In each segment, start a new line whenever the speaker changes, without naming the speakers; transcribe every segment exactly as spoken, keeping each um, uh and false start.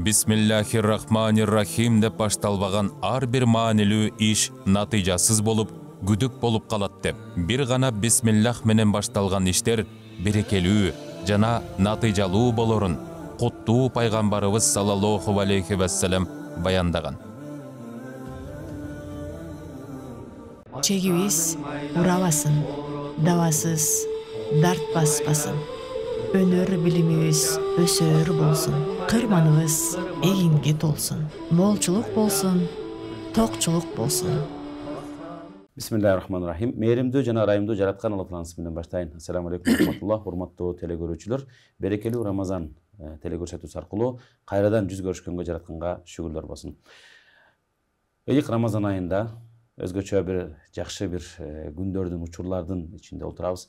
Бисмиллахир-рахманир-рахим деп башталбаган ар бир маанилүү иш натыйжасыз болуп, күдүк болуп калат деп. Бир гана бисмиллах менен башталган иштер берекелүү жана натыйжалуу болорун куттуу пайгамбарыбыз саллаллаху алейхи вассалам баяндаган.
Чегибиз урабасын, дабасыз, дарт баспасын. Өнөр билимибиз өсөр болсун. Кырманыбыз эгинге толсун. Молчулук болсун, токчулук болсун.
Бисмиллахир-рахманир-рахим. Мээримдүү жана ырайымдуу жараткан Алла Тааланын менен баштайын. Ассаламу алейкум рахматуллах, урматтуу телекөрүүчүлөр. Берекелүү Рамазан телекөрсөтүүсү аркылуу кайрадан жүз көрүшкөнгө жаратканга шүгүрлөр болсун. Ыйык Рамазан айында өзгөчө бир жакшы бир күндөрдүн, учурлардын ичинде отурабыз.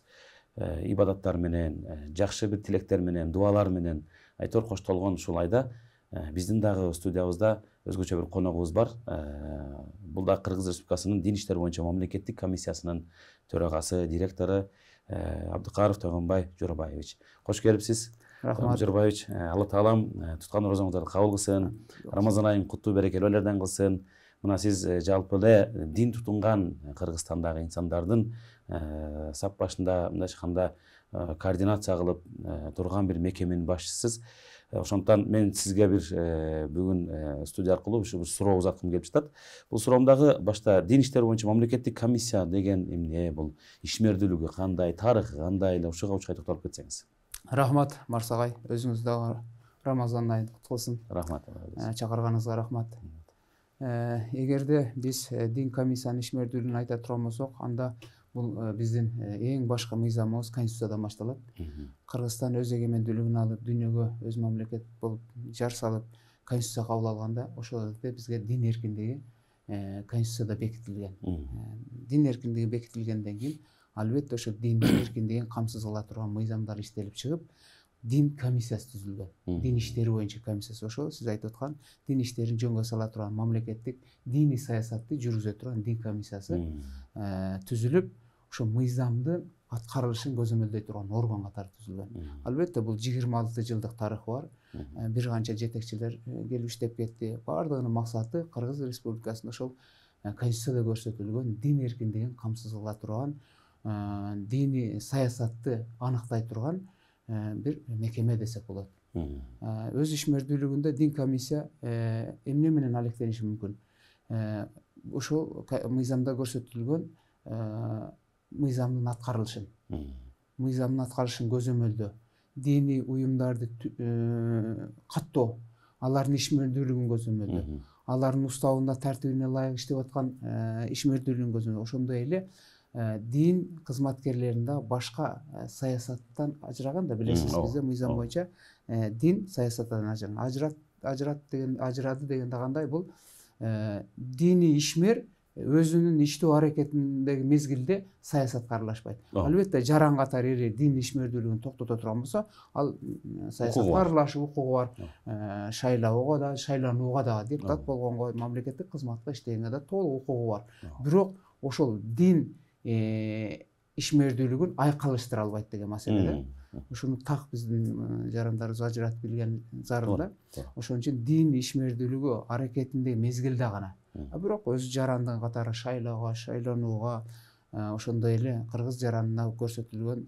Ибадаттар менен, жакшы бир тилектер менен, дуалар менен айтор коштолгон ушул айда биздин дагы студиябызда өзгөчө бир коногубуз бар. Бул да Кыргыз Республикасынын Дин иштер боюнча мамлекеттик комиссиясынын төрагасы, директору Абдыкаров Тойгонбай Жоробаевич. Кош келипсиз.
Рахмат
Жоробаевич. Алла таалам туткан розоңуздарды кабыл кылсын. Рамазан айын куттуу берекелүү элерден кылсын. Мына сиз жалпы эле дин тутунган Кыргызстандагы инсандардын сап башында мындайча айтканда координация кылып турган бир мекеменин башчысысыз. Ошондуктан мен сизге бир бүгүн студия аркылуу ушу бир суроо узаткым келип жатат. Бул суроомдагы башта дин иштер боюнча мамлекеттик комиссия деген эмне, бул ишмердүүлүгү кандай, тарыхы кандай эле ушуга учкай токтолуп кетсеңиз.
Рахмат Марсагай, өзүңүз дагы Рамазан айын кутту болсун.
Рахмат.
Чакырганыңызга рахмат. Эгерде биз дин комиссиянын ишмердүүлүгүн айта турган болсок, анда бул биздин эң башкы мыйзамыбыз Конституциядан башталат. Кыргызстан өз эгемендүүлүгүн алып, дүйнөгө өз мамлекет болуп жар салып, Конституция кабыл алганда, ошол жерде бизге дин эркиндиги Конституцияда бекитилген. Дин эркиндиги бекитилгенден кийин, албетте ошо диндин эркиндигин камсыз кыла турган мыйзамдар иштелип чыгып, дин комиссиясы түзүлгөн. Дин иштери боюнча комиссиясы, ошол сиз айтып аткан дин иштерин жөнгө сала турган мамлекеттик диний саясатты жүргүзө турган дин комиссиясы түзүлүп, ошо мыйзамдын аткарылышын көзөмөлдөй турган орган катары түзүлгөн. Албетте бул жыйырма алты жылдык тарыхы бар. Бир канча жетекчилер келип иштеп кетти. Бардыгынын максаты Кыргыз Республикасында ошол Конституцияда көрсөтүлгөн дин эркиндигин камсыз кыла турган, диний саясатты аныктай турган бир мекеме десек болот. Өз ишмердүүлүгүндө дин комиссия эмне менен алектениши мүмкүн? Ошол мыйзамда көрсөтүлгөн мыйзамдын аткарылышын, мыйзамдын аткарылышын көзөмөлдөө, диний уюмдарды каттоо, алардын ишмердүүлүгүн көзөмөлдөө, алардын уставында тартибине ылайык иштеп аткан ишмердүүлүгүн көзөмөлдөө. Ошондой эле дин кызматкерлеринде башка саясаттан ажыраган да, билесиз, бизде мыйзам боюнча дин саясаттан ажыраган. Ажырат, ажырат деген, ажырады дегенде кандай? Бул диний ишмер өзүнүн иштөө аракетиндеги мезгилде саясатка аралашпайт. Албетте жаран катары эри дин ишмердүүлүгүн токтото турган болсо, ал саясатка аралашуу укугу бар. Шайлоого да, шайланууга да, депутат болгонго, мамлекеттик кызматта иштегенге да толук укугу бар. Бирок ошол дин ишмердүүлүгүн айкалыштыра албайт деген маселеде. Ушуну так биздин жарандарыбыз ажыратып билген зарыл да. Ошон үчүн дин ишмердүүлүгү аракетиндеги мезгилде гана. Бирок өз жарандыгы катары шайлоого, шайланууга, ошондой эле кыргыз жаранына көрсөтүлгөн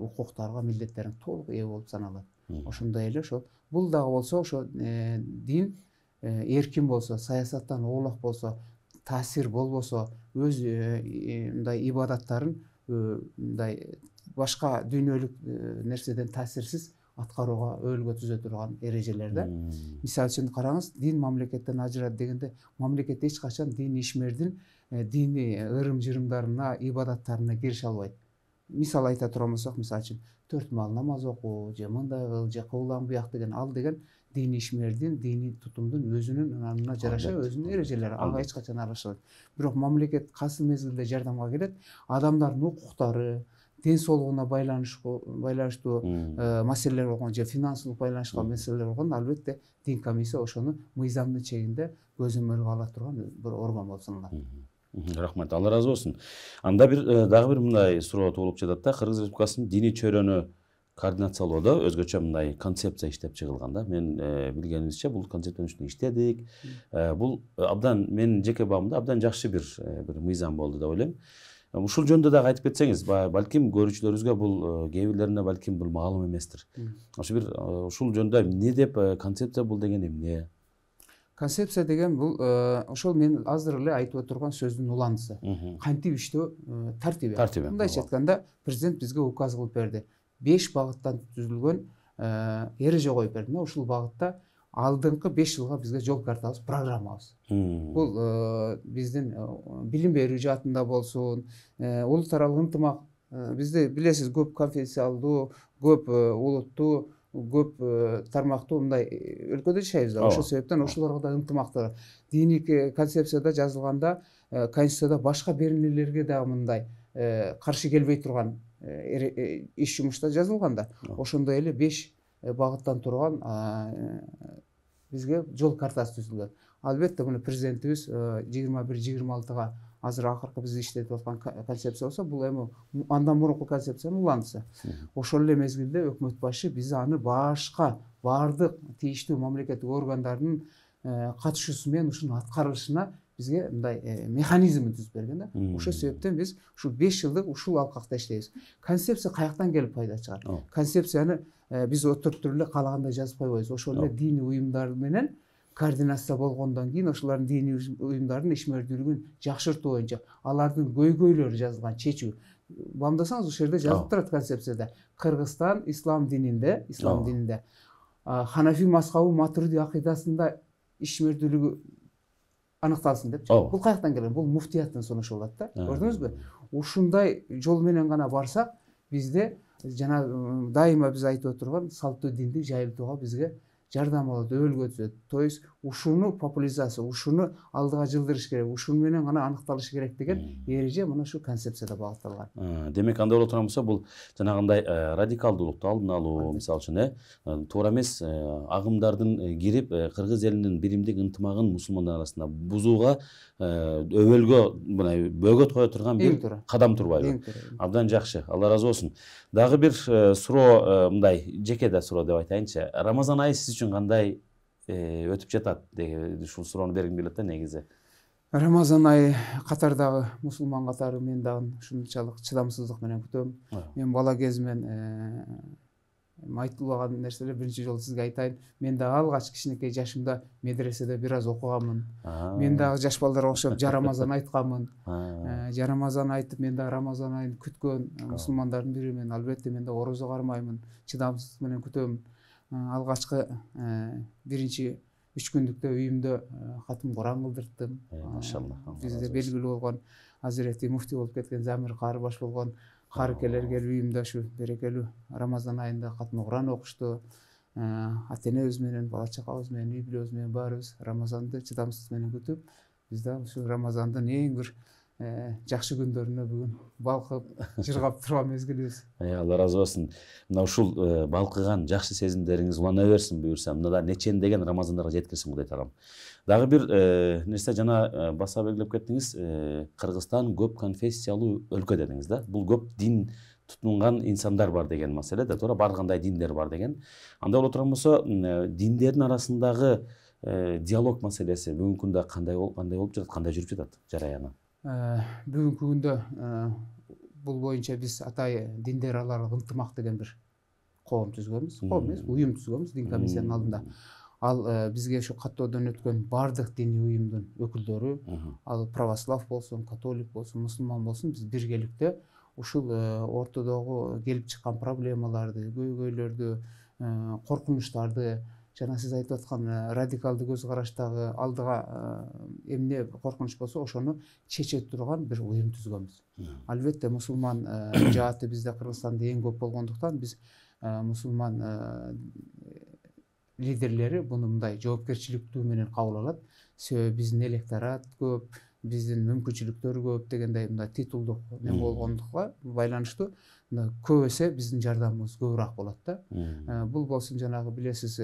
укуктарга, милдеттерине толук ээ болуп саналат. Ошондой эле ошол бул дагы болсо, ошо дин эркин болсо, саясаттан оолак болсо, таасир болбосо, өз мындай ибадаттарын мындай башка дүйнөлүк нерседен таасирсиз аткарууга өөлгө түзө турган эрежелерде. Мисалы үчүн караңыз, дин мамлекеттен ажырады дегенде, мамлекет эч качан дин ишмердин диний ырым-жырымдарына, ибадаттарына киреше албайт. Мисал айта турган болсок, мисалы үчүн төрт маал намаз окуу, же мындай кыл, же кылган буяк деген, ал деген диний ишмердин, диний тутумдун өзүнүн ынанына жараша өзүнүн эрежелери, ага эч качан аралашпайт. Бирок мамлекет кайсы мезгилде жардамга келет, адамдардын укуктары, ден соолугуна байланыштуу маселелер болгон, же финансылык байланышкан маселелер болгон, албетте дин комиссия ошону мыйзамдын чегинде көзөмөлгө ала турган бир орган болуп саналат.
Рахмат, Алла разы болсун. Анда бир дагы бир мындай суроо туулуп жатат да, Кыргыз Республикасынын диний чөйрөнү координациялоодо өзгөчө мындай концепция иштеп чыгылган да. Мен билгенимизче бул концепциянын үстүнө иштедик. Бул абдан менин жеке бабымда абдан жакшы бир бир мыйзам болду деп ойлойм. Ушул жөнүндө дагы айтып кетсеңиз, балким көрүүчүлөрүбүзгө бул кээ бирлерине балким бул маалым эместир. Ошо бир ушул жөнүндө эмне деп концепция бул деген эмне?
Концепция деген бул ошол мен азыр эле айтып отурган сөздүн уландысы. Кантип иштөө тартиби. Мындайча айтканда, президент бизге указ кылып берди. беш багыттан түзүлгөн эреже коюп берди. Ушул багытта алдыңкы беш жылга бизге жол картабыз, программабыз. Бул биздин билим берүү жаатында болсун, улут аралык ынтымак, бизде билесиз көп конфессиялдуу, көп улуттуу, көп тармактуу мындай өлкөдө жашайбыз да. Ошол себептен ошолорго да ынтымактар. Диний концепцияда жазылганда, конституцияда башка беренелерге дагы мындай каршы келбей турган иш жумушта жазылган да. Ошондой эле беш багыттан турган бизге жол картасы түзүлгөн. Албетте муну президентибиз жыйырма бир жыйырма алтыга азыр акыркы биз иштетип аткан концепция болсо, бул эми андан мурунку концепциянын уландысы. Ошол эле мезгилде өкмөт башы биз аны башка баардык тийиштүү мамлекеттик органдардын катышуусу менен ушунун аткарылышына бизге мындай механизмин түзүп берген да. Ошол себептен биз ушул беш жылдык ушул алкакта иштейбиз. Концепция каяктан келип пайда чыгат? Концепцияны биз отуруп туруп эле каалагандай жазып койбойбуз. Ошол эле диний уюмдар менен координация болгондон кийин ошолордун диний уюмдардын ишмердүүлүгүн жакшыртуу боюнча алардын көйгөйлөрү жазылган чечүү. Бамдасаңыз ошол жерде жазылып турат концепцияда. Кыргызстан ислам дининде, ислам дининде Ханафи мазхабы Матуриди акыйдасында ишмердүүлүгү аныкталсын деп. Бул каяктан келген? Бул муфтияттан сунушу болот да. Көрдүңүзбү? Ушундай жол менен гана барсак, бизде жана дайыма биз айтып отурган салттуу динди жайылтууга бизге жардам болот, өбөлгө түзөт. То есть ушуну популяризация, ушуну алдыга жылдырыш керек, ушуну менен гана аныкталышы керек деген эреже мына ушу концепцияда багытталган.
Демек анда боло турган болсо, бул жанагындай радикалдуулукту алдын алуу, мисалы үчүн, туура эмес агымдардын кирип кыргыз элинин биримдик ынтымагын мусулмандар арасында бузууга өбөлгө мындай бөгөт кое турган бир кадам турбайбы? Абдан жакшы. Алла ыраазы болсун. Дагы бир суроо, мындай жеке да суроо деп айтайынчы. Рамазан айы сиз үчүн кандай өтүп жатат? Ушул суроону бергим келет да негизи.
Рамазан айы катардагы мусулман катары мен дагы ушунчалык чыдамсыздык менен күтөм. Мен бала кезимен айтылбаган нерселер биринчи жолу сизге айтайын. Мен дагы алгач кичинекей жашымда медреседе бир аз окуганмын. Мен дагы жаш балдарга окшоп Рамазан айтканмын. Рамазан айтып, мен дагы Рамазан айын күткөн мусулмандардын биримен. Албетте мен да орозо кармаймын, чыдамсыздык менен күтөм. Алгачкы биринчи үч күндүктө үйүмдө катым Куран кылдырттым.
Машалла.
Бизде белгилүү болгон Азирети муфти болуп кеткен Замир кары баш болгон карыкелер келип үйүмдө ушу берекелүү Рамазан айында катым Куран окушту. Ата энебиз менен, бала чакабыз менен, үй бүлөбүз менен баарыбыз Рамазанды чыдамсыздык менен күтүп, биз да ушу Рамазандын эң бир жакшы күндөрүнө бүгүн балкып, жыргап турган мезгилибиз.
Алла ыраазы болсун. Мына ушул балкыган жакшы сезимдериңиз улана берсин буюрса. Мына да нечендеген Рамазандарга жеткирсин Кудай таалам. Дагы бир нерсе жана баса белгилеп кеттиңиз, Кыргызстан көп конфессиялуу өлкө дедиңиз да. Бул көп дин тутунган инсандар бар деген маселе да, туура бар кандай диндер бар деген. Анда боло турган болсо, диндердин арасындагы диалог маселеси бүгүнкү күндө кандай кандай болуп жатат, кандай жүрүп жатат жараяны?
Бүгүнкү күндө бул боюнча биз атай диндер аралык ынтымак деген бир коом түзгөнбүз. Коом эмес, уюм түзгөнбүз дин комиссиянын алдында. Ал бизге ушу каттоодон өткөн бардык диний уюмдун өкүлдөрү, ал православ болсун, католик болсун, мусулман болсун, биз биргеликте ушул ортодогу келип чыккан проблемаларды, көйгөйлөрдү, коркунучтарды, жана сиз айтып аткан радикалдуу көз караштагы алдыга эмне коркунуч болсо, ошону чече турган бир уюм түзгөнбүз. Албетте мусулман жааты бизде Кыргызстанда эң көп болгондуктан биз мусулман лидерлери буну мындай жоопкерчиликтүү менен кабыл алат. Себеби биздин электорат көп, биздин мүмкүнчүлүктөр көп дегендей мындай титулдук неме болгондукка байланыштуу көп эсе биздин жардамыбыз көбүрөөк болот да. Бул болсун жанагы билесиз,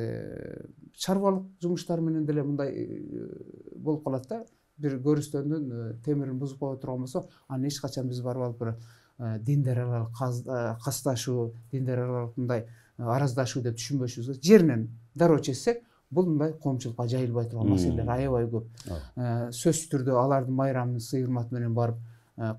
чарбалык жумуштар менен деле мындай болуп калат да. Бир көрүстөндүн темирин бузуп кое турган болсо, аны эч качан биз барып алып диндер аралык касташуу, диндер аралык мындай араздашуу деп түшүнбөшүбүз. Жеринен дароо чечсек, бул мындай коомчулукка жайылбай турган маселелер аябай көп. Сөзсүз түрдө алардын майрамын сый урмат менен барып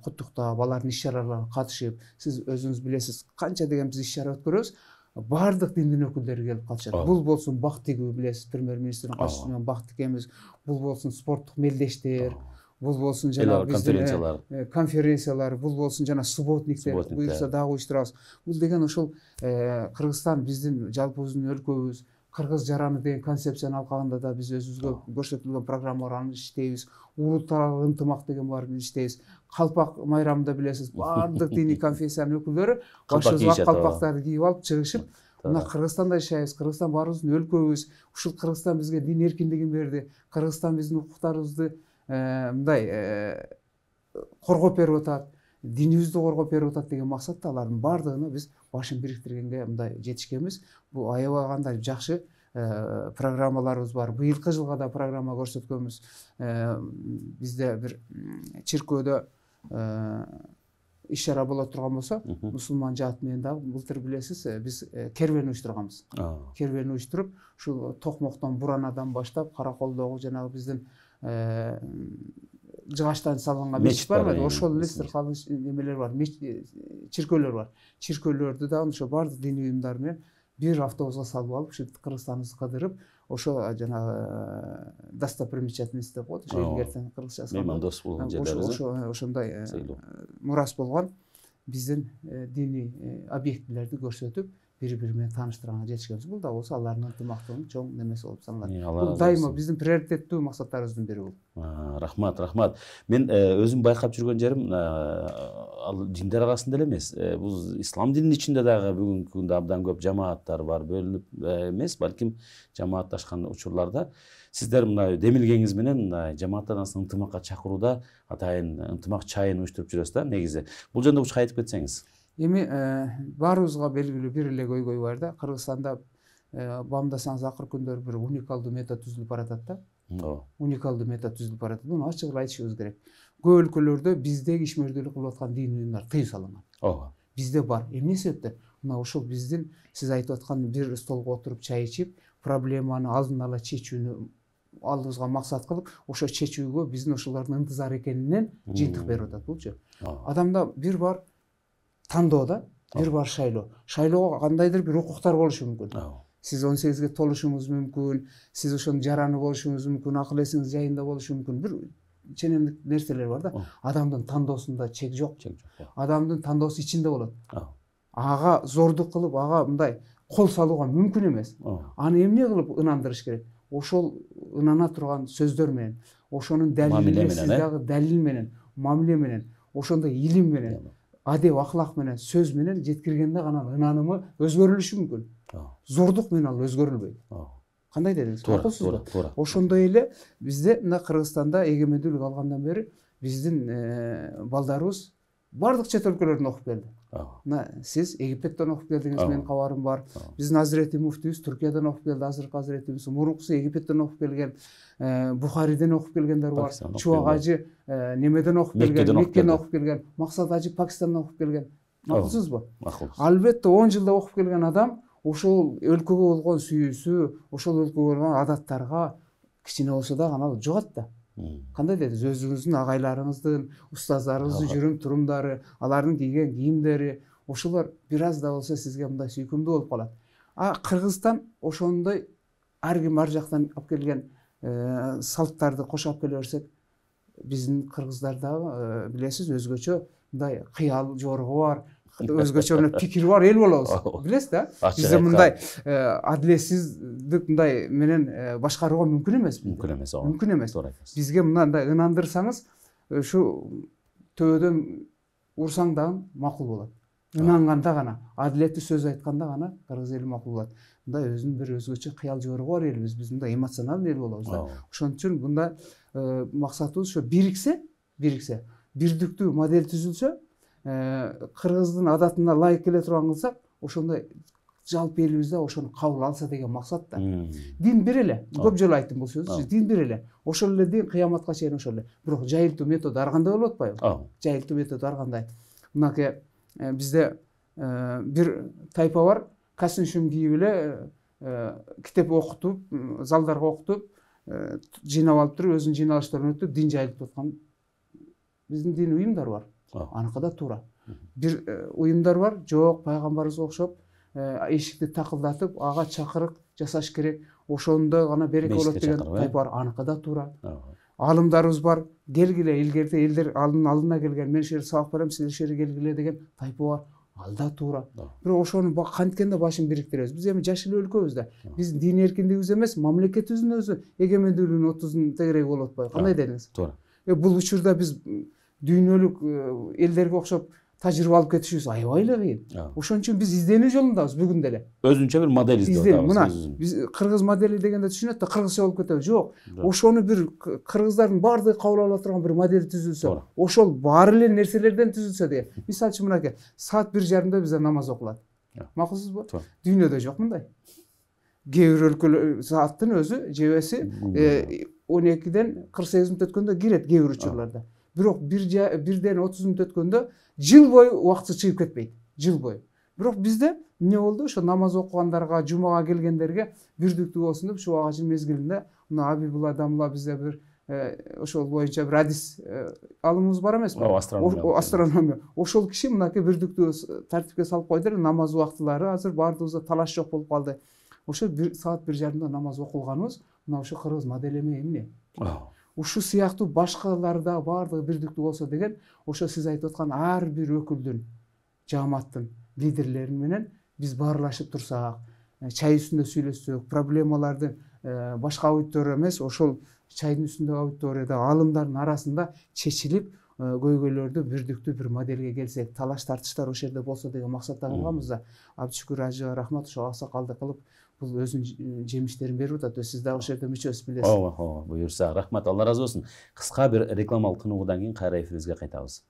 куттуктап, алардын иш чараларына катышып, сиз өзүңүз билесиз, канча деген биз иш чара өткөрөбүз, баардык диндин өкүлдөрү келип катышат. Бул болсун бак тигүү, билесиз, премьер-министрдин катышуусу менен бак тигебиз, бул болсун спорттук мелдештер, бул болсун жана
конференциялар,
конференциялар, бул болсун жана субботниктер, буюрса дагы уюштурабыз. Бул деген ошол Кыргызстан биздин жалпыбыздын өлкөбүз, кыргыз жараны деген концепциянын алкагында да биз өзүбүзгө көрсөтүлгөн программаларды иштейбиз. Улуттаралык ынтымак деген бар, биз иштейбиз. Калпак майрамында билесиз, баардык диний конфессиянын өкүлдөрү башыбызга калпактарды кийип алып чыгышып, мына Кыргызстанда жашайбыз, Кыргызстан баарыбыздын өлкөбүз, ушул Кыргызстан бизге дин эркиндигин берди, Кыргызстан биздин укуктарыбызды мындай коргоп берип атат, динибизди коргоп берип атат деген максатта алардын баардыгына биз башын бириктиргенге мындай жетишкенбиз. Бул аябай кандай жакшы программаларыбыз бар. Быйылкы жылга да программа көрсөткөнбүз. Бизде бир чиркөөдө иш чара боло турган болсо, мусулман жаат менен дагы былтыр билесиз, биз кервен уюштурганбыз. Кервен уюштуруп, ушул Токмоктон, Буранадан баштап Караколдогу жанагы биздин жыгачтан салынган мечит барбы? Ошол эле сыркалуу немелер бар, чиркөөлөр бар. Чиркөөлөрдү да ошо баардык диний уюмдар менен бир автобуска салып алып, ушу Кыргызстаныбызды кыдырып, ошо жанагы достопримечательность деп коет, ошо илгертен кыргызчасы.
Меймандос болгон жерлерибиз.
Ошо ошондой мурас болгон биздин диний объектилерди көрсөтүп, бири-бири менен тааныштырганга жетишкенбиз. Бул да болсо алардын ынтымактыгынын чоң немеси болуп саналат. Бул дайыма биздин приоритеттүү максаттарыбыздын бири бул.
Рахмат, рахмат. Мен өзүм байкап жүргөн жерим ал диндер арасында эле эмес. Бул ислам дининин ичинде дагы бүгүнкү күндө абдан көп жамааттар бар, бөлүнүп эмес, балким жамаатташкан учурларда сиздер мына демилгеңиз менен жамааттар арасында ынтымакка чакырууда атайын ынтымак чайын уюштуруп жүрөсүз да негизи. Бул жөнүндө учка айтып кетсеңиз.
Эми баарыбызга белгилүү бир эле көйгөй бар да. Кыргызстанда бамдасаңыз акыркы күндөрү бир уникалдуу метод түзүлүп баратат да. Ооба. Уникалдуу метод түзүлүп баратат. Муну ачык эле айтышыбыз керек. Көп өлкөлөрдө биздеги ишмердүүлүк кылып аткан диний уюмдар тыюу салынган.
Ооба.
Бизде бар. Эмне себептен? Мына ошол биздин сиз айтып аткан бир столго отуруп чай ичип, проблеманы алдын ала чечүүнү алдыбызга максат кылып, ошо чечүүгө биздин ошолордун ынтызар экенинен жыйынтык берип атат булчу. Адамда бир бар тандоо да, бир бар шайлоо. Шайлоого кандайдыр бир укуктар болушу мүмкүн. Сиз он сегизге толушуңуз мүмкүн, сиз ошонун жараны болушуңуз мүмкүн, акыл эсиңиз жайында болушу мүмкүн. Бир ченемдик нерселер бар да. Адамдын тандоосунда чек жок. Адамдын тандоосу ичинде болот. Ага зордук кылып, ага мындай кол салууга мүмкүн эмес. Аны эмне кылып ынандырыш керек? Ошол ынана турган сөздөр менен, ошонун далили, сиз дагы далил менен, мамиле менен, ошондой илим менен, адеп аклак менен, сөз менен жеткиргенде гана ынанымы өзгөрүлүшү мүмкүн. Зордук менен ал өзгөрүлбөйт. Кандай дедиңиз? Макулсузбу? Ошондой эле бизде мына Кыргызстанда эгемендүүлүк алгандан бери биздин балдарыбыз бардык чет өлкөлөрдөн окуп келди. Мына сиз Египеттен окуп келдиңиз, менин кабарым бар. Биздин Азирети муфтийибиз Түркиядан окуп келди, азыркы Азиретибиз. Мурункусу Египеттен окуп келген, Бухариден окуп келгендер бар. Чубак ажы немеден окуп келген, Меккеден окуп келген, Максат ажы Пакистандан окуп келген. Макулсузбу? Макул. Албетте он жылда окуп келген адам ошол өлкөгө болгон сүйүүсү, ошол өлкөгө болгон адаттарга кичине болсо да анал жугат да. Кандай дедиңиз? Өзүңүздүн агайларыңыздын, устаздарыңыздын жүрүм турумдары, алардын кийген кийимдери, ошолор бир аз да болсо сизге мындай сүйкүмдүү болуп калат. А Кыргызстан ошондой ар ким ар жактан алып келген салттарды кошуп алып келе берсек, биздин кыргыздарда билесиз өзгөчө мындай кыял жоругу бар, өзгөчө мына пикири бар эл болобуз. Билесиз да? Бизде мындай адилетсиздик мындай менен башкарууга мүмкүн эмес.
Мүмкүн эмес.
Мүмкүн эмес. Бизге мындай ынандырсаңыз, ушу төбөдөн урсаң дагы макул болот. Ынанганда гана, адилеттүү сөз айтканда гана кыргыз эли макул болот. Мындай өзүнүн бир өзгөчө кыял жоругу бар элбиз. Биз мындай эмоционалдуу эл болобуз да. Ошон үчүн мындай максатыбыз ошо бириксе, бириксе, бирдиктүү модель түзүлсө, кыргыздын адатына ылайык келе турган кылсак, ошондой жалпы элибизде ошону кабыл алса деген максат да. Дин бир эле. Көп жолу айттым бул сөздү. Дин бир эле. Ошол эле дин кыяматка чейин ошол эле. Бирок жайылтуу методу ар кандай болуп атпайбы? Жайылтуу методу ар кандай. Мынакей бизде бир тайпа бар, костюм кийип эле китеп окутуп, залдарга окутуп, жыйнап алып туруп, өзүнүн жыйналыштарын өтүп, дин жайылтып аткан биздин дин уюмдар бар. Аныкы да туура. Бир уюмдар бар, жок, пайгамбарыбызга окшоп эшикти такылдатып, ага чакырык жасаш керек, ошондо гана береке болот деген тайпа бар. Аныкы да туура. Алымдарыбыз бар, келгиле, илгерде элдер алдын алдына келген, мен ушерге сабак берем, сиз ушерге келгиле деген тайпа бар. Ал да туура. Бирок ошону канткенде башын бириктиребиз. Биз эми жаш эле өлкөбүз да. Биз дин эркиндигибиз эмес, мамлекетибиздин өзү эгемендүүлүгүнүн отузун тегереги болуп атпайбы? Кандай дедиңиз?
Туура.
Бул учурда биз дүйнөлүк элдерге окшоп тажрыйба алып кетишибиз аябай эле кыйын. Ошон үчүн биз изденүү жолундабыз бүгүн деле.
Өзүнчө бир модель издеп атабыз.
Мына биз кыргыз модели дегенде түшүнөт да, кыргызча болуп кетеби? Жок. Ошону бир кыргыздардын баардыгы кабыл ала турган бир модель түзүлсө, ошол бар эле нерселерден түзүлсө деген. Мисалы үчүн мынакей, саат бир жарымда бизде намаз окулат. Макулсузбу? Дүйнөдө жок мындай. Кээ бир өлкөлөр сааттын өзү жебеси он экиден кырк сегиз мүнөт өткөндө кирет кээ бир учурларда. Бирок бирден отуз мүнөт өткөндө жыл бою убакыты чыгып кетпейт. Жыл бою. Бирок бизде эмне болду? Ошо намаз окугандарга, жумага келгендерге бирдиктүү болсун деп ушул агачын мезгилинде мына Абибулла Дамла бизде бир ошол боюнча бир адис алымыбыз бар эмеспи? Астрономия. Ошол киши мынакей бирдиктүү тартипке салып койду эле, намаз убактылары азыр баардыгыбызда талаш жок болуп калды. Ошо бир саат бир жарымда намаз окулганыбыз мына ошо кыргыз модели эмне? Ушул сыяктуу башкалар да баардыгы бирдиктүү болсо деген, ошо сиз айтып аткан ар бир өкүлдүн, жааматтын лидерлери менен биз баарлашып турсак, чай үстүндө сүйлөшсөк, проблемаларды башка аудитория эмес, ошол чайдын үстүндөгү аудиторияда алымдардын арасында чечилип, көйгөйлөрдү бирдиктүү бир модельге келсек, талаш тартыштар ошол жерде болсо деген максатта кылганбыз да. Абдышүкүр ажыга рахмат, ошо аксакалды кылып бул өзүнүн жемиштерин берип атат. Сиз дагы ошол жерде мүчөсүз билесиз.
Ооба, ооба, буюрса. Рахмат, Алла ыраазы болсун. Кыска бир рекламалык тынуудан кийин кайра эфирибизге кайтабыз.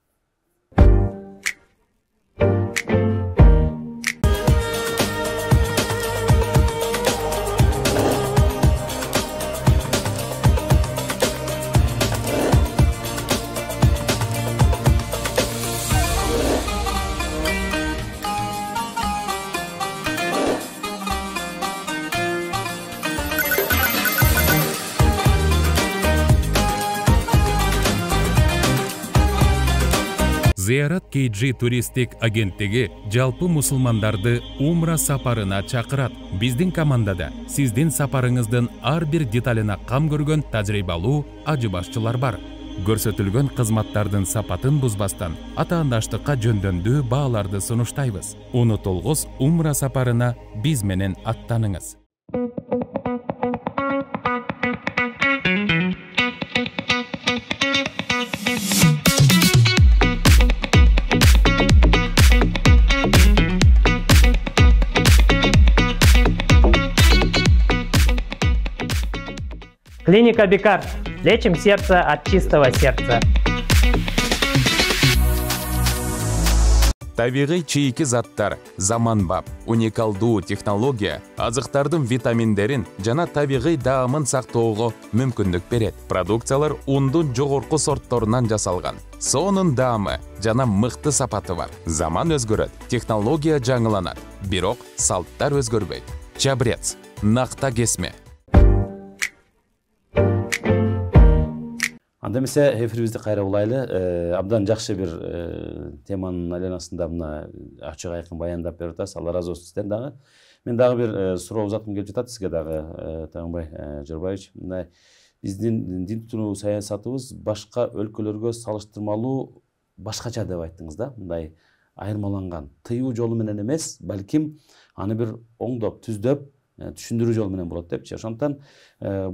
Зиярат кей джи туристтик агенттиги жалпы мусулмандарды умра сапарына чакырат. Биздин командада сиздин сапарыңыздын ар бир деталына кам көргөн тажрыйбалуу ажы башчылар бар. Көрсөтүлгөн кызматтардын сапатын бузбастан атаандаштыкка жөндөмдүү бааларды сунуштайбыз. Унутулгус умра сапарына биз менен аттаныңыз.
Клиника Бикар. Лечим сердце от чистого сердца.
Табигый чийки заттар, заманбап, уникалдуу технология азыктардын витаминдерин жана табигый даамын сактоого мүмкүндүк берет. Продукциялар ундун жогорку сортторунан жасалган. Сонун даамы жана мыкты сапаты бар. Заман өзгөрөт, технология жаңыланат, бирок салттар өзгөрбөйт. Чабрец, накта кесме.
Анда эмесе эфирибизди кайра улайлы. Абдан жакшы бир теманын айланасында мына ачык айкын баяндап берип атасыз. Алла ыраазы болсун сизден дагы. Мен дагы бир суроо узаткым келип жатат сизге дагы, Тагынбай Жырбаевич. Мына биздин дин тутуму саясатыбыз башка өлкөлөргө салыштырмалуу башкача деп айттыңыз да. Мындай айырмаланган, тыюу жолу менен эмес, балким аны бир оңдоп, түздөп, түшүндүрүү жолу менен болот депчи. Ошондуктан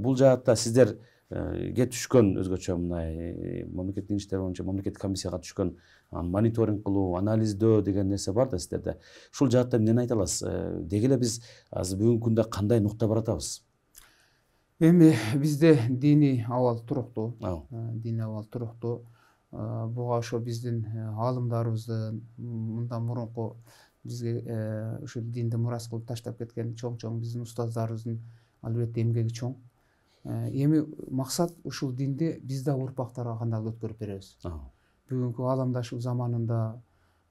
бул жаатта сиздер ге түшкөн өзгөчө мындай мамлекеттик иштер боюнча мамлекеттик комиссияга түшкөн мониторинг кылуу, анализдөө деген нерсе бар да сиздерде. Ушул жаатта эмнени айта аласыз? Деги эле биз азыр бүгүнкү күндө кандай нукта баратабыз?
Эми бизде дини абал туруктуу, дини абал туруктуу. Буга ошо биздин аалымдарыбыздын мындан мурунку бизге ушул динди мурас кылып таштап кеткен чоң-чоң биздин устаздарыбыздын албетте эмгеги чоң. Эми максат ушул динди биз да урпактарга кандайдыр өткөрүп беребиз. Бүгүнкү ааламдашуу заманында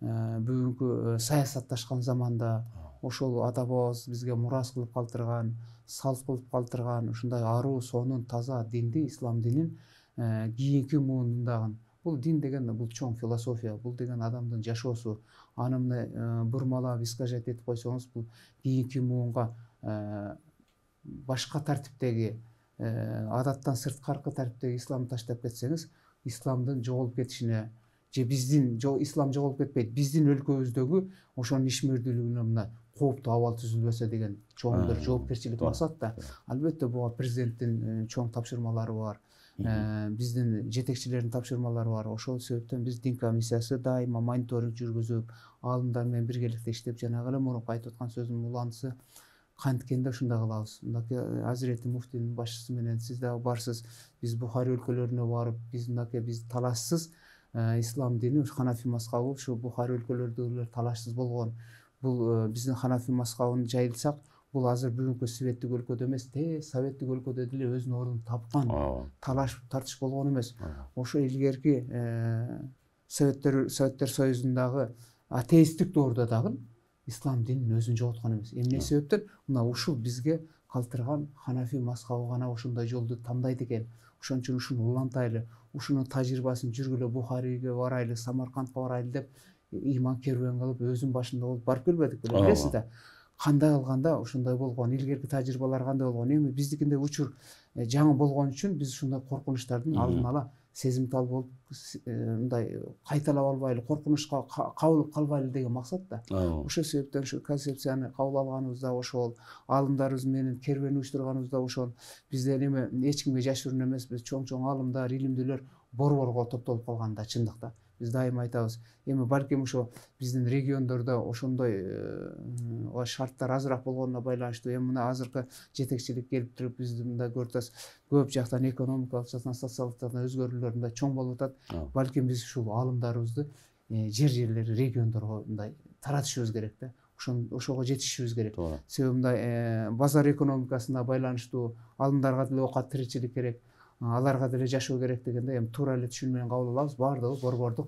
бүгүнкү саясатташкан заманда ошол ата бабабыз бизге мурас кылып калтырган, салт кылып калтырган ушундай аруу, сонун, таза динди, ислам динин кийинки муунундагы бул дин деген бул чоң философия, бул деген адамдын жашоосу. Аны мына бурмалап искажать этип койсоңуз, бул кийинки муунга башка тартиптеги, адаттан сырткаркы тартиптеги исламды таштап кетсеңиз, исламдын жоголуп кетишине же биздин ислам жоголуп кетпейт, биздин өлкөбүздөгү ошонун ишмердүүлүгүнө мына кооптуу абал түзүлбөсө деген чоң бир жоопкерчилик максат да. Албетте буга президенттин чоң тапшырмалары бар, биздин жетекчилердин тапшырмалары бар. Ошол себептен биз дин комиссиясы дайыма мониторинг жүргүзүп, аалымдар менен биргеликте иштеп, жанагы эле мурунку айтып аткан сөзүмдүн уландысы канткенде ушундай кылабыз. Мындаки Азирети муфтинин башчысы менен сиз дагы барсыз, биз Бухари өлкөлөрүнө барып, биз мындаки биз талашсыз ислам дини Ханафи мазхабы ушу Бухари өлкөлөрдөгүлөр талашсыз болгон. Бул биздин Ханафи мазхабын жайылсак, бул азыр бүгүнкү советтик өлкөдө эмес, те советтик өлкөдө деле өзүнүн ордун тапкан талаш тартыш болгон эмес. Ошо илгерки советтер советтер союзундагы атеисттик доордо дагы ислам динин өзүн жоготкон эмес. Эмне себептен? Мына ушул бизге калтырган Ханафи мазхабы гана ошондой жолду тандайт экен. Ошон үчүн ушуну улантайлы, ушунун тажрыйбасын жүргүлө Бухариге барайлы, Самаркандка барайлы деп ыйман керуен кылып өзүнүн башында болуп барып келбедик беле, билесиз да. Кандай кылганда ошондой болгон, илгерки тажрыйбалар кандай болгон. Эми биздикинде учур жаңы болгон үчүн биз ушундай коркунучтардын алдын ала сезимтал болуп мындай кайталап албайлы, коркунучка кабыл калбайлы деген максат да. Ошол себептен ушу концепцияны кабыл алганыбыз да ошол, аалымдарыбыз менен керуен уюштурганыбыз да ошол. Бизде эме эч кимге жашыруун эмес, биз чоң-чоң аалымдар, илимдүүлөр борборго топтолуп калган да, чындыкта. Биз дайыма айтабыз. Эми балким ошо биздин региондордо ошондой шарттар азыраак болгонуна байланыштуу. Эми мына азыркы жетекчилик келип туруп бизди мындай көрүп атасыз, көп жактан экономикалык жактан, социалдык жактан өзгөрүүлөр мындай чоң болуп атат. Балким биз ушул аалымдарыбызды жер жерлер, региондорго мындай таратышыбыз керек да. Ошон ошого жетишибиз керек. Себеби мындай базар экономикасына байланыштуу аалымдарга деле оокат, тиричилик керек. Аларга деле жашоо керек дегенде эми туура эле түшүнүү менен кабыл алабыз. Баардыгы борбордук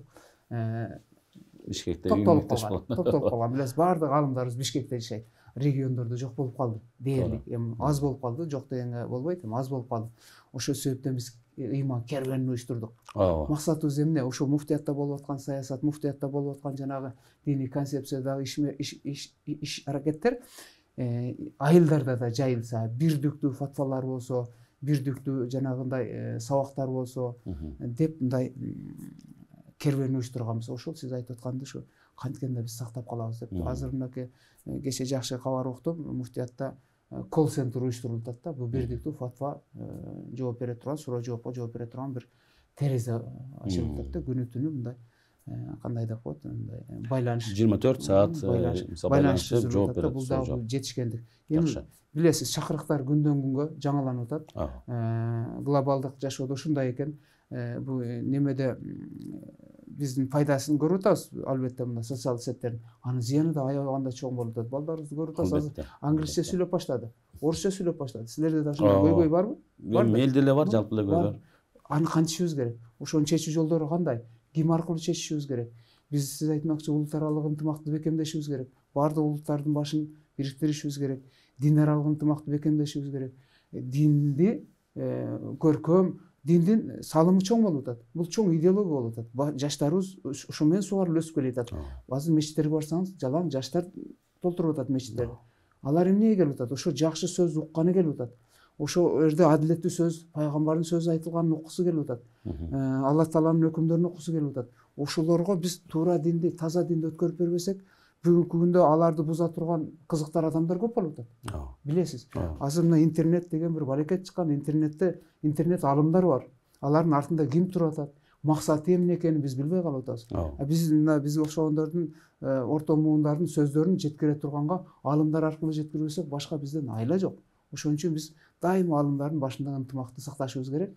Бишкекте
топтолуп калган. Топтолуп калган. Билесиз, баардык аалымдарыбыз Бишкекте жашайт. Региондордо жок болуп калды дээрлик. Эми аз болуп калды, жок дегенге болбойт, эми аз болуп калды. Ошол себептен биз ыйман керуенин уюштурдук. Максатыбыз эмне? Ошо муфтиятта болуп аткан саясат, муфтиятта болуп аткан жанагы диний концепциядагы иш аракеттер айылдарда да жайылса, бирдиктүү фатвалар болсо, бирдиктүү жанагындай сабактар болсо деп мындай керуен уюштурганбыз. Ошол сиз айтып атканды ушу канткенде биз сактап калабыз деп. Азыр мынакей кечээ жакшы кабар уктум, муфтиятта колл-центр уюштурулуп атат да. Бул бирдиктүү фатва жооп бере турган, суроо жоопко жооп бере турган бир терезе ачылып атат да. Күнү түнү мындай кандай деп коет, мындай байланыш
жыйырма төрт саат байланышып жооп берет.
Бул дагы жетишкендик. Эми билесиз, чакырыктар күндөн күнгө жаңыланып атат. Глобалдык жашоодо ушундай экен. Бул немеде биздин пайдасын көрүп атабыз, албетте мына социалдык сеттердин. Анын зыяны да аябаганда чоң болуп атат. Балдарыбызды көрүп атасыз, англисче сүйлөп баштады, орусча сүйлөп баштады. Силерде да ошондой көйгөй барбы?
Мелде эле бар, жалпы эле көйгөй.
Аны кантишибиз керек? Ошонун чечүү жолдору кандай? Ким аркылуу чечишибиз керек? Биз сиз айтмакчы улут аралык ынтымакты бекемдешибиз керек. Бардык улуттардын башын бириктиришибиз керек. Дин аралык ынтымакты бекемдешибиз керек. Динди көркөм, диндин салымы чоң болуп атат. Бул чоң идеология болуп атат. Жаштарыбыз ошо менен сугарылып өсүп келатат. Азыр мечиттерге барсаңыз, жалаң жаштар толтуруп атат мечиттерди. Алар эмнеге келип атат? Ошо жакшы сөз укканы келип атат. Ошо жерде адилеттүү сөз, пайгамбардын сөзү айтылганын уккусу келип атат. Алла Тааланын өкүмдөрүн уккусу келип атат. Ошолорго биз туура динди, таза динди өткөрүп бербесек, бүгүнкү күндө аларды буза турган кызыктар адамдар көп болуп атат. Билесиз, азыр мына интернет деген бир балекет чыккан. Интернетте интернет алымдар бар. Алардын артында ким туруп атат, максаты эмне экенин биз билбей калып атабыз. Биз мына бизге окшогондордун орто муундардын сөздөрүн жеткире турганга алымдар аркылуу жеткирбесек, башка бизден айла жок. Ошон үчүн биз дайыма алымдардын башындагы ынтымакты сакташыбыз керек.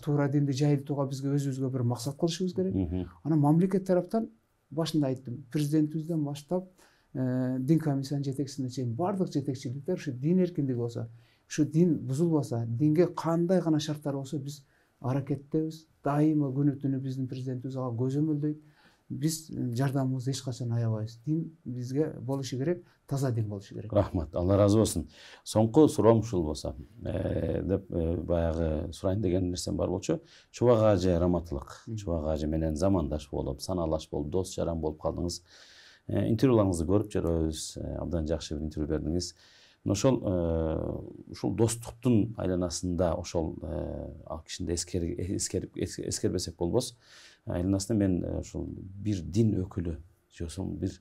Туура динди жайылтууга бизге өзүбүзгө бир максат кылышыбыз керек. Анан мамлекет тараптан башында айттым, президентибизден баштап дин комиссиянын жетекчисине чейин бардык жетекчиликтер ушу дин эркиндиги болсо, ушу дин бузулбаса, динге кандай гана шарттар болсо биз аракеттебиз. Дайыма күнү түнү биздин президентибиз ага көзөмөлдөйт. биз жардамыбызды эч качан аябайбыз. Дин бизге болушу керек, таза дин болушу керек.
Рахмат, Алла разы болсун. Соңку суроом ушул болсо, деп баягы сурайын деген нерсем бар болчу. Чубак ажы раматылык, Чубак ажы менен замандаш болуп, санаалаш болуп, дос жаран болуп калдыңыз. Интервьюларыңызды көрүп жүрөбүз, абдан жакшы бир интервью бердиңиз. Ошол ушул достуктун айланасында ошол ал кишини эскерип эскербесек болбос. Айланасында мен ушул бир дин өкүлү, же бир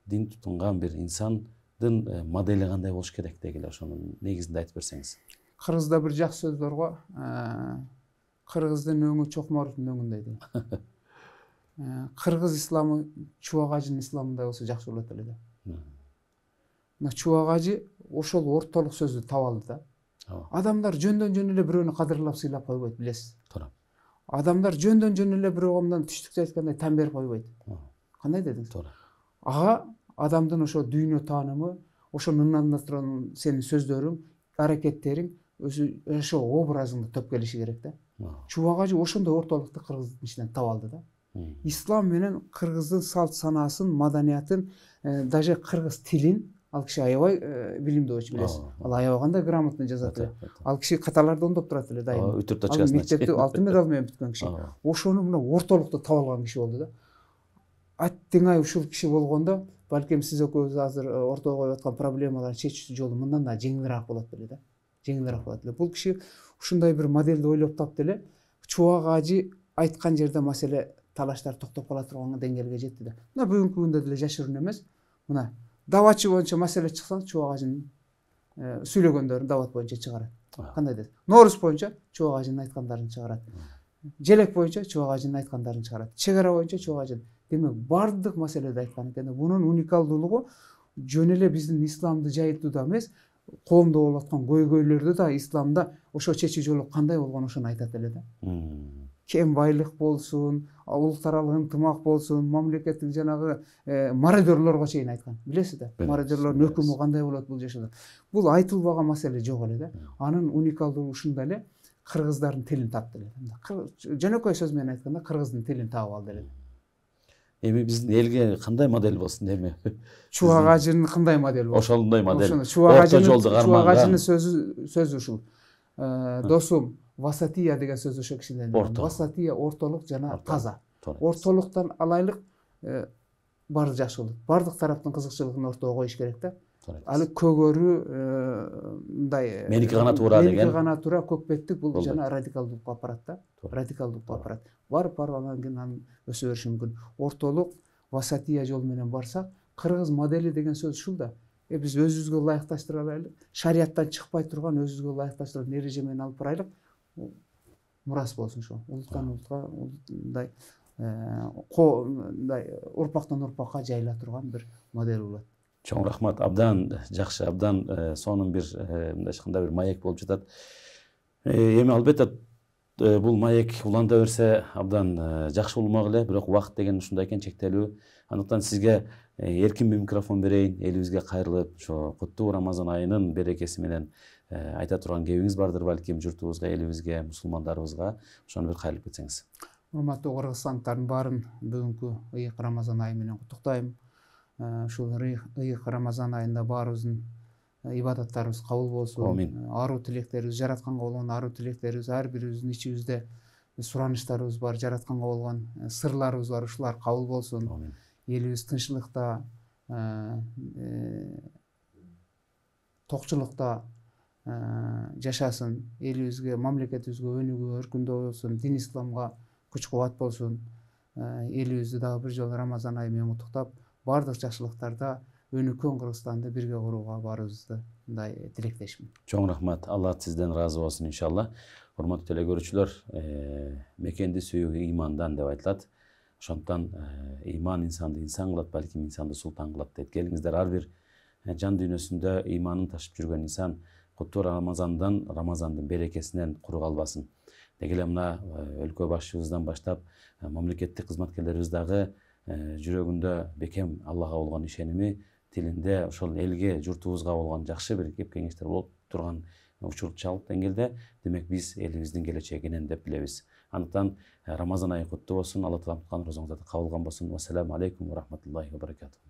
дин тутунган бир инсандын модели кандай болуш керек дегиле ошонун негизинде айтып берсеңиз.
Кыргызда бир жакшы сөз бар го. Кыргыздын өңү чокмордун өңүндөй дейт. Кыргыз исламы Чубак ажынын исламындай болсо жакшы болот эле да. Мына Чубак ажы ошол ортолук сөздү таап алды да. Адамдар жөндөн жөн эле бирөөнү кадырлап сыйлап койбойт, билесиз. Туура. Адамдар жөндөн жөн эле бирөөгө мындан түштүкчө айткандай тан берип койбойт. Кандай дедиңиз? Туура. Ага адамдын ошо дүйнө таанымы, ошонун ынанында турган сенин сөздөрүң, аракеттериң ошо образыңды топ келиши керек да. Чубак ажы ошондой ортолукту кыргыздын ичинен таап алды да. Ислам менен кыргыздын салт санаасын, маданиятын, даже кыргыз тилин ал киши аябай билимдүү болчу, билесиз. Ал аябагандай грамотно жазат эле. Ал киши каталарды оңдоп турат эле дайыма.
Үтүр точкасын.
Ал мектепти алтын медал менен бүткөн киши. Ошону мына ортолукту таап алган киши болду да. Аттиңай ушул киши болгондо, балким сиз экөөбүз азыр ортого коюп аткан проблемаларды чечүү жолу мындан да жеңилирээк болот беле да. Жеңилирээк болот эле. Бул киши ушундай бир моделди ойлоп тапты эле. Чубак ажы айткан жерде маселе талаштар токтоп кала турган деңгээлге жетти да. Мына бүгүнкү күндө деле жашыруун эмес. Мына даватчы боюнча маселе чыкса, Чубак ажынын сүйлөгөндөрүн дават боюнча чыгарат. Кандай дейт? Нооруз боюнча Чубак ажынын айткандарын чыгарат. Желек боюнча Чубак ажынын айткандарын чыгарат. Чек ара боюнча Чубак ажы. Демек, бардык маселеде айткан экен. Бунун уникалдуулугу жөн эле биздин исламды жайылтууда эмес, коомдо болуп аткан көйгөйлөрдү да исламда ошо чечүү жолу кандай болгон ошону айтат эле да. Кем байлык болсун, улуттар аралык ынтымак болсун, мамлекеттик жанагы мародерлорго чейин айткан. Билесиз да? Мародерлордун өкүмү кандай болот бул жашоодо. Бул айтылбаган маселе жок эле да. Анын уникалдуулугу ушунда эле, кыргыздардын тилин тапты эле. Жөнөкөй сөз менен айтканда, кыргыздын тилин таап алды эле.
Эми биздин элге кандай модель болсун эми?
Чубак ажынын кандай модель болсун?
Ошондой модель.
Чубак ажынын сөзү сөзү ушул. Досум, васатия деген сөз ошо кишиден. Васатия ортолук жана таза. Ортолуктан алайлык баары жакшы болот. Бардык тараптын кызыкчылыгын ортого коюш керек да. Аны көгөрү мындай
меники гана туура деген.
Меники гана туура көкпеттик бул жана радикалдуулукка апарат да. Радикалдуулукка апарат. Барып барып анан кийин анын өсө бериши мүмкүн. Ортолук васатия жол менен барсак, кыргыз модели деген сөз ушул да. Э биз өзүбүзгө ылайыкташтыра алайлык. Шарияттан чыкпай турган өзүбүзгө ылайыкташтырган эреже менен алып барайлык. Мурас болсун ошо. Улуттан улутка мындай мындай урпактан урпакка жайыла турган бир модель болот.
Чоң рахмат. Абдан жакшы, абдан сонун бир мындайча кандай бир маек болуп жатат. Эми албетте бул маек уланта берсе абдан жакшы болмок эле, бирок убакыт деген ушундай экен, чектелүү. Андыктан сизге эркин микрофон берейин, элибизге кайрылып, ошо куттуу Рамазан айынын берекеси менен айта турган кебиңиз бардыр балким журтубузга, элибизге, мусулмандарыбызга. Ошону бир кайрылып кетсеңиз.
Урматтуу кыргызстандыктардын баарын бүгүнкү ыйык Рамазан айы менен куттуктайм. Ушул ыйык Рамазан айында баарыбыздын ибадаттарыбыз кабыл болсун. Аруу тилектерибиз, жаратканга болгон аруу тилектерибиз, ар бирибиздин ичибизде сураныштарыбыз бар, жаратканга болгон сырларыбыз бар, ушулар кабыл болсун. Элибиз тынччылыкта, токчулукта жашасын, элибизге, мамлекетибизге өнүгүү, өркүндөө болсун, дин исламга күч кубат болсун. Элибизди дагы бир жолу Рамазан айы менен куттуктап, бардык жакшылыктарда өнүккөн Кыргызстанды бирге курууга баарыбызды мындай тилектешмин.
Чоң рахмат. Алла сизден разы болсун иншалла. Урматтуу телекөрүүчүлөр, мекенди сүйүү ыймандан деп айтылат. Ошондуктан ыйман инсанды инсан кылат, балким инсанды султан кылат дейт. Келиңиздер, ар бир жан дүйнөсүндө ыйманын ташып жүргөн инсан куттуу Рамазандан, Рамазандын берекесинен куру калбасын. Деги эле мына өлкө башчыбыздан баштап мамлекеттик кызматкерлерибиз дагы жүрөгүндө бекем Аллага болгон ишеними, тилинде ошол элге, журтубузга болгон жакшы бир кеп кеңештер болуп турган учур чал деңгээлде, демек биз элибиздин келечегинен деп билебиз. Андыктан Рамазан айы куттуу болсун, Алла Таала туткан розоңузду кабыл кылган болсун. Ассаламу алейкум ва рахматуллахи ва баракатух.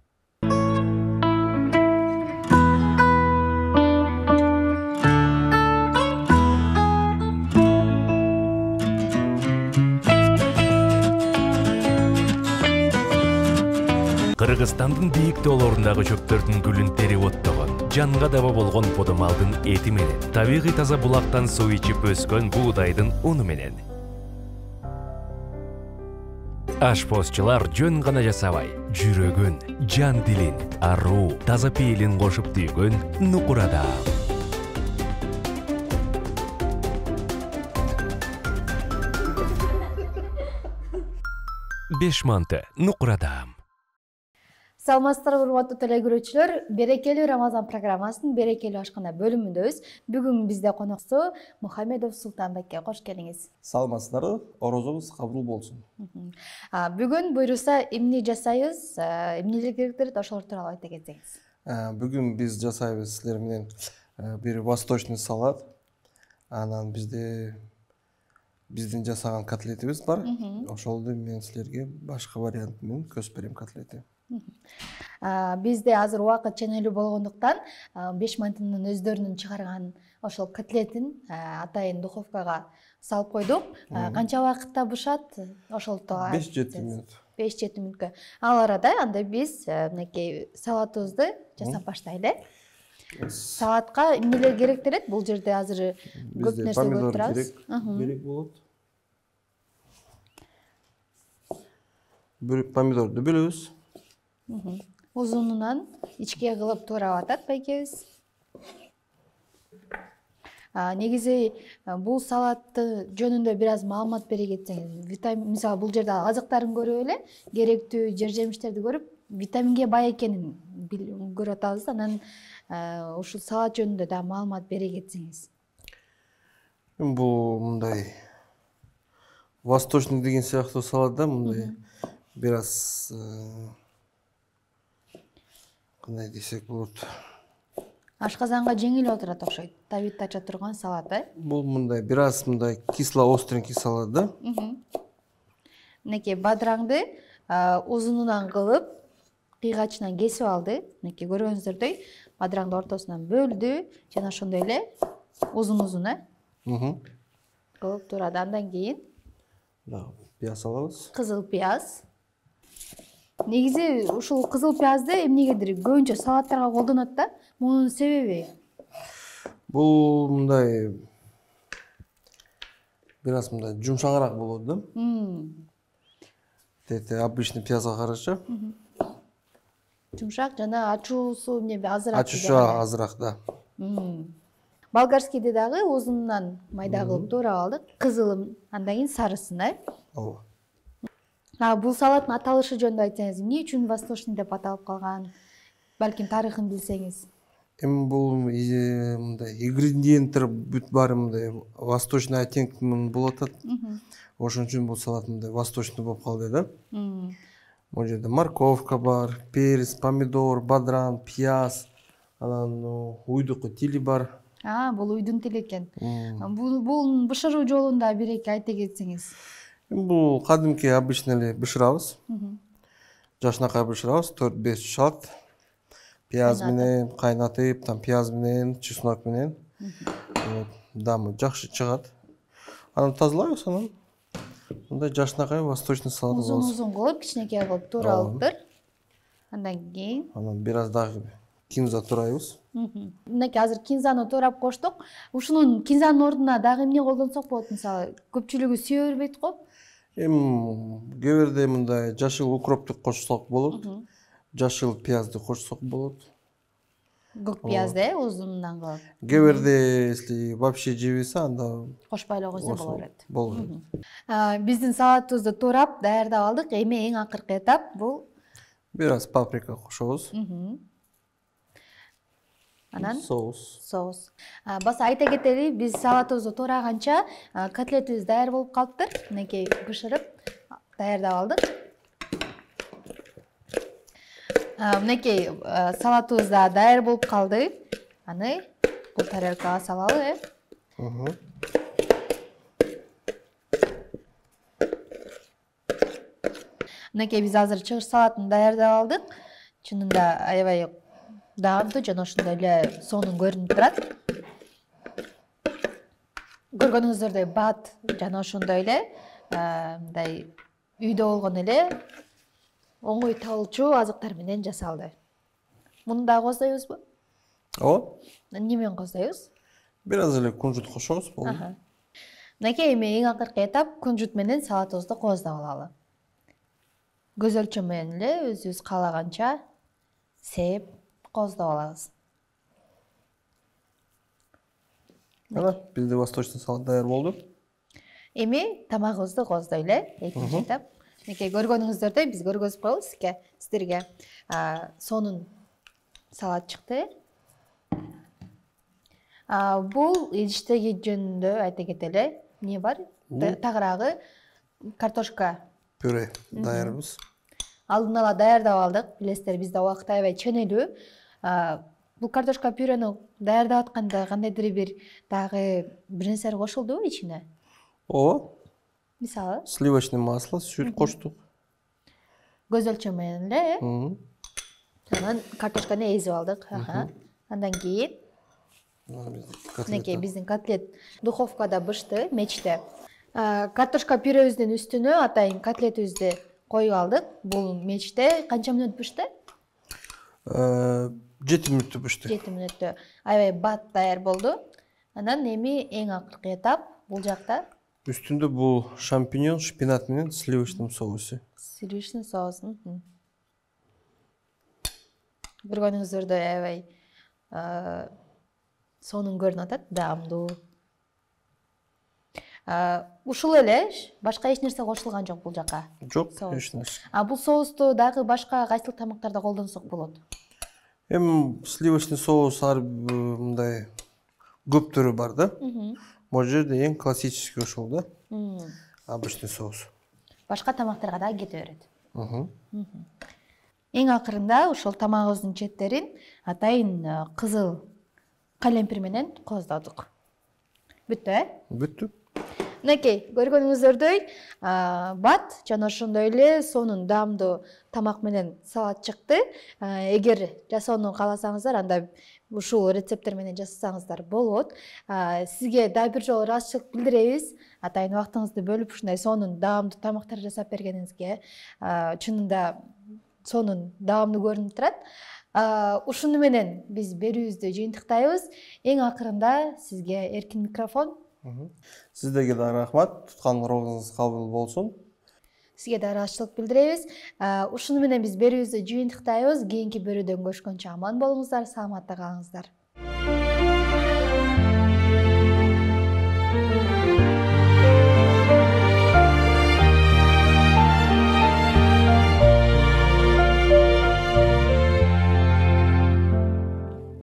Кыргызстандын бийик тоолорундагы чөптөрдүн гүлүн терип оттогон, жанга даба болгон подомалдын эти менен, табигый таза булактан суу ичип өскөн буудайдын уну менен. Ашпозчулар жөн гана жасабай, жүрөгүн, жан дилин, аруу, таза пейилин кошуп түйгөн нукурада. Беш манты нукурада.
Саламатсыздарбы урматтуу телекөрүүчүлөр, берекелүү Рамазан программасынын берекелүү ашкана бөлүмүндөбүз. Бүгүн бизде коноксу Мухамедов Султанбекке кош келиңиз.
Саламатсыздарбы, орозоңуз кабыл болсун.
Бүгүн буйруса эмне жасайбыз, эмнелер керектер, ошолор тууралуу айта кетсеңиз.
Бүгүн биз жасайбыз силер менен бир восточный салат. Анан бизде биздин жасаган котлетибиз бар. Ошолду мен силерге башка вариант менен көзүп берем котлетти.
Бизде азыр убакыт ченелүү болгондуктан беш мантынын өздөрүнүн чыгарган ошол котлетин атайын духовкага салып койдук. Канча убакытта бышат? Ошол тууралуу
беш жети мүнөт.
беш жети мүнөткө. Ал арада анда биз мынакей салатыбызды жасап баштайлы. Салатка эмнелер керектелет? Бул жерде азыр көп нерсе көрүп турабыз.
Керек болот. Бир помидорду бөлөбүз.
Узунунан ичке кылып туурап атат байкебиз. Негизи бул салатты жөнүндө бир аз маалымат бере кетсеңиз. Витамин, мисалы бул жерде азыктарын көрүп эле, керектүү жер жемиштерди көрүп, витаминге бай экенин көрүп атабыз. Анан ушул салат жөнүндө да маалымат бере кетсеңиз.
Бул мындай восточный деген сыяктуу салат да, мындай бир аз кандай десек болот.
Ашказанга жеңил отурат окшойт. Табит ача турган салат, э?
Бул мындай бир аз мындай кисло остренький салат да.
Мынакей бадраңды узунунан кылып, кыйгачынан кесип алды. Мынакей көргөнүңүздөрдөй бадраңды ортосунан бөлдү, жана ошондой эле узун-узун, э? Кылып турат. Андан кийин
пияз алабыз.
Кызыл пияз. Негизи ушул кызыл пиязды эмнегедир көбүнчө салаттарга колдонот да. Мунун себеби?
Бул мындай бир аз мындай жумшагыраак болот да. Тете обычный пиязга караша.
Жумшак жана ачуусу эмне азыраак.
Ачуусу азыраак да.
Болгарскийди дагы узунунан майда кылып туурап алдык. Кызылын, андан кийин сарысын, э?
Ооба.
Бул салаттын аталышы жөнүндө айтсаңыз, эмне үчүн восточный деп аталып калган? Балким тарыхын билсеңиз.
Эми бул мындай ингредиенттер бүт баары мындай восточный оттенк болуп атат. Ошон үчүн бул салат мындай восточный болуп калды да. Бул жерде морковка бар, перец, помидор, бадран, пияз, анан уйдуку тили бар.
А, бул уйдун тили экен. Бул бышыруу жолун да бир эки айта кетсеңиз.
Бул кадимки обычный эле бышырабыз. Жашынакай бышырабыз, төрт беш шат. Пияз менен кайнатып, там пияз менен, чеснок менен. Дамы жакшы чыгат. Анан тазалайбыз, анан мындай жашынакай восточный салат болот.
Узун-узун кылып, кичинекей кылып туурап алыптыр. Андан кийин
анан бир аз дагы кинза туурайбыз.
Мынакей азыр кинзаны туурап коштук. Ушунун кинзанын ордуна дагы эмне колдонсок болот? Мисалы, көпчүлүгү сүйө бербейт го.
Эми кээ бирде мындай жашыл укропты кошсок болот. Жашыл пиязды кошсок болот.
Көк пиязды узунунан кылып.
Кээ бирде если вообще жебесе, анда
кошпой эле койсо боло берет.
Боло берет.
Биздин салатыбызды туурап даярдап алдык. Эми эң акыркы этап бул
бир аз паприка кошобуз.
Анан
соус.
Соус. Баса айта кетели, биз салатыбызды туураганча котлетибиз даяр болуп калыптыр. Мынакей бышырып даярдап алдык. Мынакей салатыбыз да даяр болуп калды. Аны бул тарелкага салалы, э. Мынакей биз азыр чыгыш салатын даярдап алдык. Чынында аябай даамдуу жана ошондой эле сонун көрүнүп турат. Көргөнүңүздөрдөй бат жана ошондой эле мындай үйдө болгон эле оңой табылчу азыктар менен жасалды. Муну дагы коздойбузбу?
Ооба.
Эмне менен коздойбуз?
Бир аз эле кунжут кошобуз, болду.
Мынакей эми эң акыркы этап кунжут менен салатыбызды кооздоп алалы. Көз өлчөм менен эле өзүбүз каалаганча сээп кооздоп алабыз.
Ana, bizde восточный салат даяр болду.
Эми тамагыбызды кооздойлу, экинчи этап. Мынакей көргөнүңүздөрдөй биз көргөзүп коебуз сизге, сиздерге сонун салат чыкты. Бул идиштеги жөнүндө айта кетели. Эмне бар? Тагыраагы картошка
Пюре даярбыз.
Алдын ала даярдап алдык. Билесиздер, бизде убакыт аябай ченелүү. Бул картошка пюрени даярдап атканда кандайдыр бир дагы бир нерселер кошулдубу ичине?
Ооба.
Мисалы?
Сливочное масло, сүт коштук.
Көз өлчөм менен эле, э? Анан картошканы эзип алдык. Андан кийин мынакей биздин котлет духовкада бышты, мечте. Картошка пюребиздин үстүнө атайын котлетибизди коюп алдык. Бул мечте канча мүнөт бышты?
жети мүнөттө бышты.
жети мүнөттө. Аябай бат даяр болду. Анан эми эң акыркы этап бул жакта.
Үстүндө бул шампиньон, шпинат менен сливочный соусу.
Сливочный соус. Көргөнүңүздөрдөй аябай сонун көрүнүп атат, даамдуу. Ушул эле, башка эч нерсе кошулган жок бул жака.
Жок, эч нерсе.
А бул соусту дагы башка кайсыл тамактарда колдонсок болот?
Эми сливочный соус ар мындай көп түрү бар да. Бул жерде эң классический ошол да. Обычный соус.
Башка тамактарга да кете берет. Эң акырында ошол тамагыбыздын четтерин атайын кызыл калемпир менен кооздодук. Бүттү, э?
Бүттү.
Мынакей, көргөнүңүздөрдөй бат жана ошондой эле сонун даамдуу тамак менен салат чыкты. Эгер жасоону кааласаңыздар, анда ушул рецепттер менен жасасаңыздар болот. Сизге дагы бир жолу ыраазычылык билдиребиз. Атайын убактыңызды бөлүп ушундай сонун даамдуу тамактар жасап бергениңизге. Чынында сонун даамдуу көрүнүп турат. Ушуну менен биз берүүбүздү жыйынтыктайбыз. Эң акырында сизге эркин микрофон.
Сиздерге да рахмат. Тутканыңыз кабыл болсун.
Сизге да ыраазычылык билдиребиз. Ушуну менен биз берүүбүздү жыйынтыктайбыз. Кийинки берүүдөн көрүшкөнчө аман болуңуздар, саламатта калыңыздар.